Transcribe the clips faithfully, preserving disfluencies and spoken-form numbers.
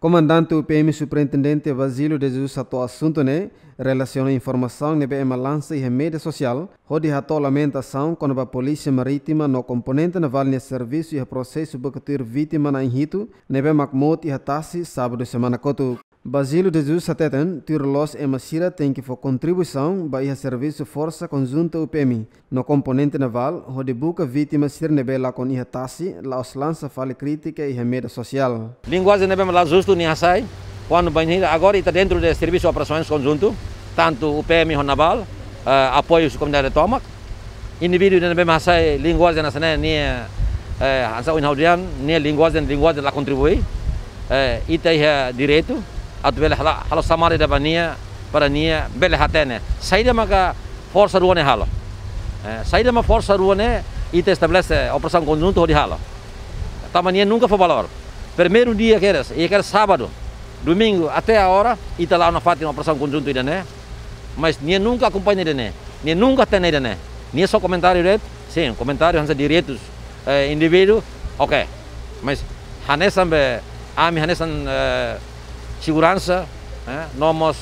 Komandante U P M Superintendente Basílio de Jesus hato'o asuntu ne'e relasiona informasaun ne'ebé ema lansa iha média sosiál, hodi hato'o lamentasaun kona-ba Polísia Marítima no komponente navál nia servisu iha prosesu buka tuir vítima na'in hitu ne'ebé mak mout iha tasi sábadu semana kotuk. Basílio de Jesus hateten, tuir loos ema sira tenke fó kontribuisaun ba iha servisu Forsa Konjunta U P M no komponente navál, hodi buka vítima sira ne'ebé lakon iha tasi, la'ós lansa fali krítika iha média sosiál. Linguajen ne'ebé mak la justu nia hasai, kuandu bainhira agora ita dentro de servisu operasaun konjuntu, tantu U P M ho navál, eh, apoiu husi komunidade tomak, indivíduu ne'ebé mak hasai linguajen hanesan ne'e, nia, eh, hanesan ohin ha'u dehan, nia linguajen, linguajen la kontribui, eh, ita iha direitu atu bele halo, halo xamada ida ba nia, para nia bele hatene saida maka forsa rua ne'e halo. Eh, saida mak forsa rua ne'e, ita estabelese operasaun konjuntu hodi halo. Tanba nia nunka fó valór. Primeiru dia kedas, iha kedas sábadu, domingu, até agora, ita la'o nafatin operasaun konjuntu ida-ne'e. Mas nia nunka akompaña ida-ne'e. Nia nunka hatene ida-ne'e. Nia só komentáriu de'it, sin, komentáriu hanesan direitus, eh, indivíduu, oke. Mas hanesan be, ami hanesan, eh, seguransa, eh, no mós,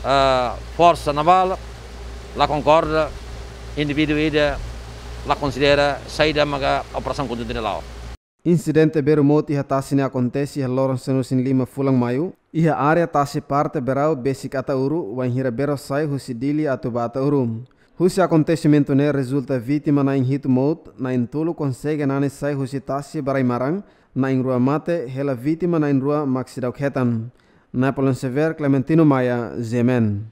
eh, forsa navál, la konkorda, indivíduu ida la konsidera saida maka operasaun konjuntu ne'e la'o. Insidente berru mout iha tasi ne'e akontese iha loron sanulu-resin-lima fulan Maiu, iha área tasi parte Berau besik Ataúru, wainhira berro sai husi Dili atu ba Ataúru. Husi akontesimentu ne'e rezulta vítima na'in hitu mout, na'in tolu konsege nani sai husi tasi ba rai-maran, na'in rua mate, hela vítima na'in rua mak seidauk hetan. Napoleon Xavier, Clementino Maia, G M N.